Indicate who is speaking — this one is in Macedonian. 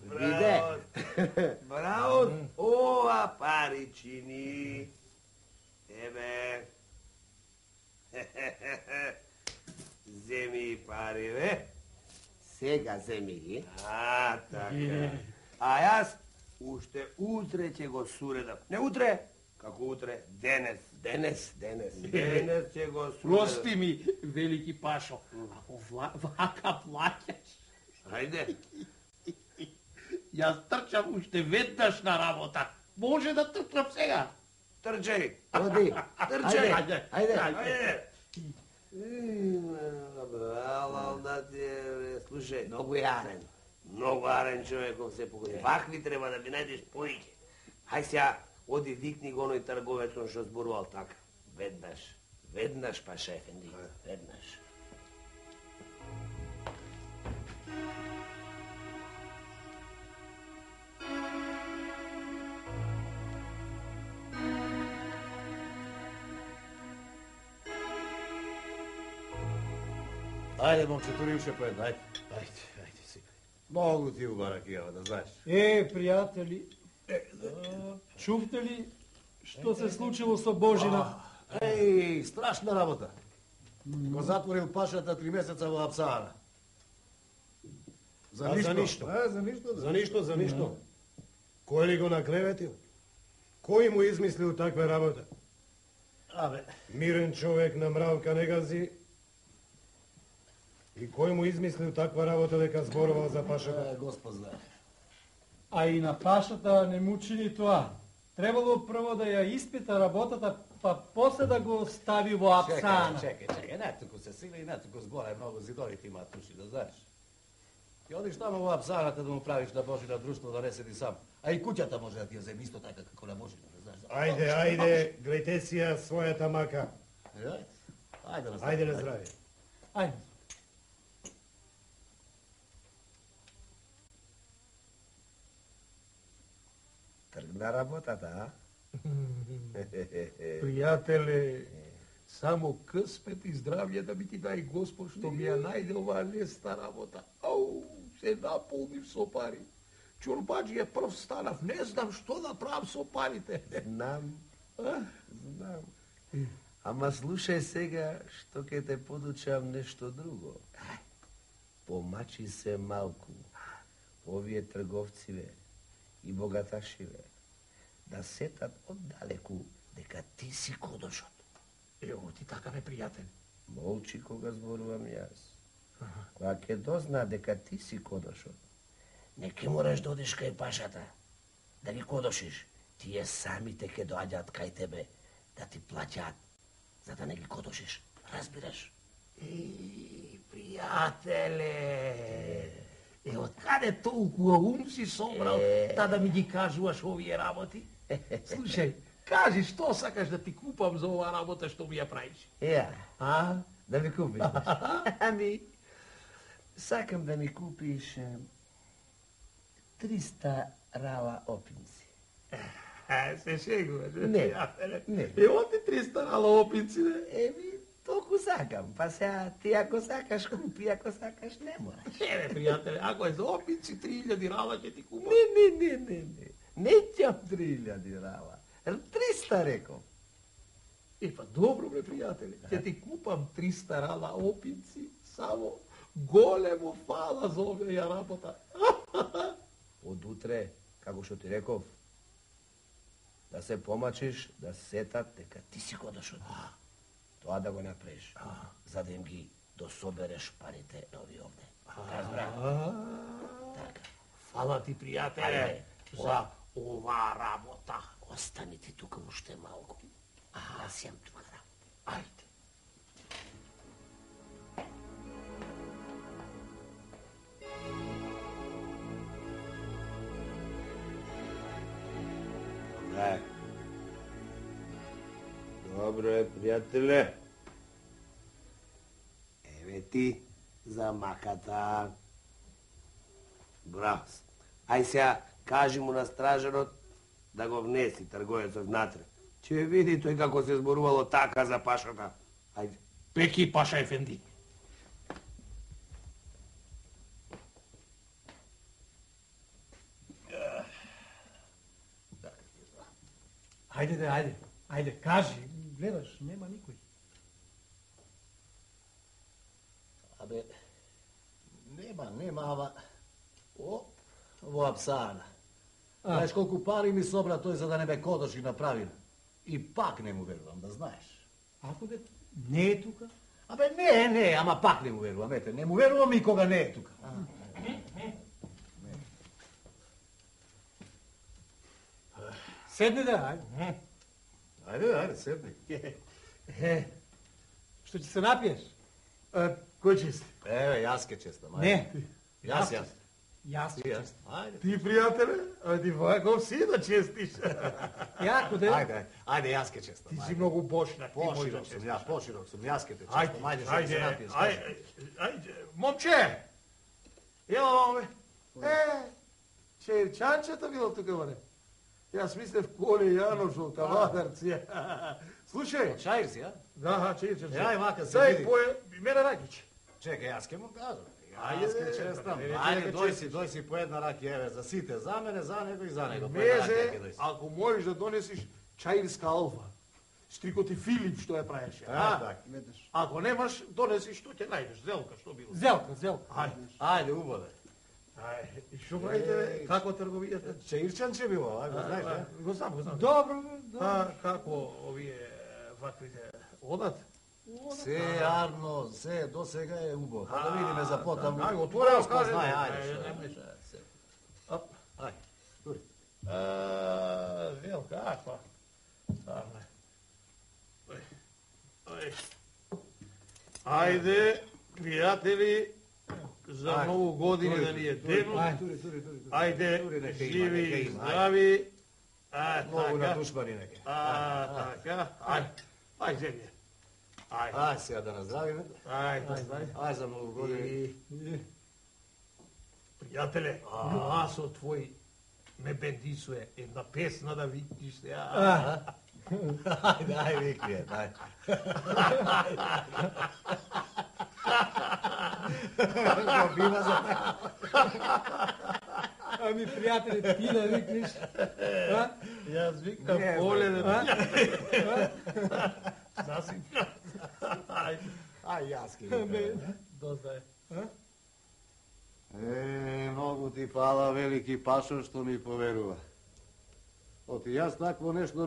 Speaker 1: Браво! Браво! Ова паричини! Ебе! Земи пари, бе!
Speaker 2: Сега земи ги.
Speaker 1: Така. А јас уште утре ќе го суредам. Не утре, како утре, денес. Денес ќе го суредам.
Speaker 3: Прости ми, велики Пашо, ако вака плаќаш.
Speaker 1: Ајде.
Speaker 3: Јас трчам уште веднаш на работа. Може да трчам сега.
Speaker 1: Трчај.
Speaker 2: Оди.
Speaker 1: Трчај.
Speaker 2: Ајде.
Speaker 1: Алал да ти е, слушај.
Speaker 2: Многу јарен.
Speaker 1: Многу арен човеков се погоди. Вакви треба да ми најдеш поиќе. Хај сега, оди викни го оној трговецот што зборувал така. Веднаш, Паша ефенди, веднаш.
Speaker 4: Ајде, момчето, римше по една, ајде си. Многу ти убара кијава, да знаеш.
Speaker 5: Пријатели, чувте ли што се случило со Божина?
Speaker 4: Страшна работа. Го затворил Пашата 3 месеца во апсара. За ништо. За ништо. Кој ли го наклеветил? Кој му измислил таква работа? Мирен човек на мравка не гази. И кој му измислил таква работа дека зборувал за Пашата?
Speaker 2: Господ знае.
Speaker 5: А и на Пашата не му чини тоа. Требало прво да ја испита работата, па после да го стави во апсана.
Speaker 4: Чекај, не туку се сили и не туку згоре многу зидовите имаат уши, да знаеш. Ти одиш тамо во апсаната да му правиш на Божина друштво, да не седи сам. А и куќата може да ти ја земи исто така како на Божина, да знаеш.
Speaker 6: Ајде, гледајте си ја својата мака.
Speaker 4: Ајде на здравје.
Speaker 5: Ајде.
Speaker 1: Тргна работата, а?
Speaker 3: Пријателе, само къспет и здравје да би ти дај Господ што ми ја најде оваа леста работа. Ау, се наполнив со пари. Чорбаџија прв станав, не знам што да правам со парите.
Speaker 1: Знам. Ама слушај сега, што ќе те подучам нешто друго. Помачи се малку. Овие трговциве и богаташиве да сетат оддалеку дека ти си кодошот.
Speaker 3: Ево ти така ме, пријател.
Speaker 1: Молчи кога зборувам јас. Кога ќе дозна дека ти си кодошот, не ќе мораш да одиш кај Пашата, да ги кодошиш. Тие самите ќе доаѓаат кај тебе да ти плаќаат, за да не ги кодошиш. Разбираш?
Speaker 3: Пријателе, од каде толку ум си собрал да ми ги кажуваш овие работи? Слушај, кажи што сакаш да ти купам за оваа работа што ми ја правиш?
Speaker 1: Да ми купиш? Сакам да ми купиш 300 рала опинци.
Speaker 3: Се шегуваш?
Speaker 1: Не.
Speaker 3: Ево ти 300 рала опинци, не?
Speaker 1: Толку сакам, па сега ти ако сакаш купи, ако сакаш не мораш.
Speaker 3: Пријателе, ако е за опинци 3000 рала ќе ти купам.
Speaker 1: Не ќам 3000 рала. 300 реков.
Speaker 3: Па добро, пријателе, ќе ти купам 300 рала опинци, само големо фала за оваа работа.
Speaker 1: Од утре, како што ти реков, да се помачиш, да сетат дека ти си кодошот. Тоа да го направиш, за да им ги дособереш парите на овие овде. Разбра? Така.
Speaker 3: Фала ти, пријателе, за оваа работа.
Speaker 1: Остани ти тука уште малку. Јас јам тука работа.
Speaker 3: Ајде.
Speaker 1: Добро е, пријателе. Еве ти за маката. Браво. Ај сега, кажи му на стражарот да го внеси трговецот внатре. Ќе види тој како се зборувало така за Пашата. Ајде.
Speaker 3: Пеки, Паша ефенди.
Speaker 5: Ајде, кажи. Гледаш, нема никој.
Speaker 4: Абе, нема, ама... Во Апсана. Знаеш колку пари ми собра тој за да не ме кодоши направи. И пак не му верувам, да знаеш.
Speaker 5: Ако де не е тука?
Speaker 4: Абе, не, ама пак не му верувам, ете, не му верувам и кога не е тука.
Speaker 5: Седни да, ајде.
Speaker 4: Ајде, седни.
Speaker 5: Што ќе се напиеш?
Speaker 6: Кој чести?
Speaker 4: Еве, јас ке честам, ајде.
Speaker 5: Не.
Speaker 4: Јас.
Speaker 5: Јас
Speaker 4: Ти, јас.
Speaker 5: честам.
Speaker 4: Ајде.
Speaker 6: Ти, пријателе? А ти ваков си да честиш.
Speaker 5: Јако де?
Speaker 4: Ајде, јас ке честам.
Speaker 6: Ти си многу бошнак, ти можеш да
Speaker 4: Поширок сум,
Speaker 6: честиш.
Speaker 4: ја, поширок сум, јас ке те честам. Ајде, што се напиеш.
Speaker 6: Ајде, момче! Ево оваме. Черчанчето било тука, бре. Јас мислев Коле Јаношо, кавадарци. Слушај.
Speaker 4: Чаир си, а?
Speaker 6: Да, черчанче.
Speaker 4: Јај, вака се
Speaker 6: Дај
Speaker 4: види.
Speaker 6: пое, мене ракиќ.
Speaker 4: Чекај, јас ке му кажам.
Speaker 6: Ајде,
Speaker 4: Јас ке честам.
Speaker 6: не,
Speaker 4: Ајде,
Speaker 6: не,
Speaker 4: дој си по една раки, еве, за сите, за мене, за него и за него. По една раки,
Speaker 6: Мезе,
Speaker 4: ќе дој си.
Speaker 6: ако можеш да донесиш чаирска алфа, стрикоти Филип што ја правеше.
Speaker 4: така.
Speaker 6: Ако немаш, донеси што ќе најдеш, зелка, што било.
Speaker 5: Зелка.
Speaker 6: Ајде.
Speaker 4: Ајде, убаво.
Speaker 6: Ајде. И што правите, бе? Како трговијата?
Speaker 4: Чаирчанче било, а, го знаеш, да?
Speaker 6: Го знам.
Speaker 5: Добро.
Speaker 6: Како овие ваквите одат?
Speaker 4: Се, Арно, се, до сега е убаво. Па да видиме за потаму.
Speaker 6: Ајде, отворено
Speaker 4: Што
Speaker 6: кажи.
Speaker 4: знае, ајде,
Speaker 6: Ајде,
Speaker 4: што.
Speaker 6: Ап.
Speaker 4: Ајде, тури.
Speaker 6: Велка, аква. Старне. Ајде, пријатели, за многу години да ни е денот.
Speaker 4: Тури.
Speaker 6: Ајде,
Speaker 4: Тури, нека има,
Speaker 6: живи
Speaker 4: нека
Speaker 6: и
Speaker 4: има,
Speaker 6: здрави.
Speaker 4: Многу
Speaker 6: Така.
Speaker 4: надушмани неке.
Speaker 6: Така. Ајде, земје. Ајде.
Speaker 4: Ај, сега да наздравиме.
Speaker 6: Ајде.
Speaker 4: Ај, за многу години.
Speaker 6: Пријателе, гласот твој ме бендисуе. Една песна да викниш се.
Speaker 4: Ајде, викни е, ајде. Го бива за
Speaker 5: Ами, пријатели, ти да викнеш.
Speaker 6: Јас викам
Speaker 4: Не,
Speaker 6: поле
Speaker 4: бе.
Speaker 6: да Засим.
Speaker 4: Ај, јас ке викам.
Speaker 6: Дозда е.
Speaker 4: Многу ти фала, велики Пашо, што ми поверува. Оти јас такво нешто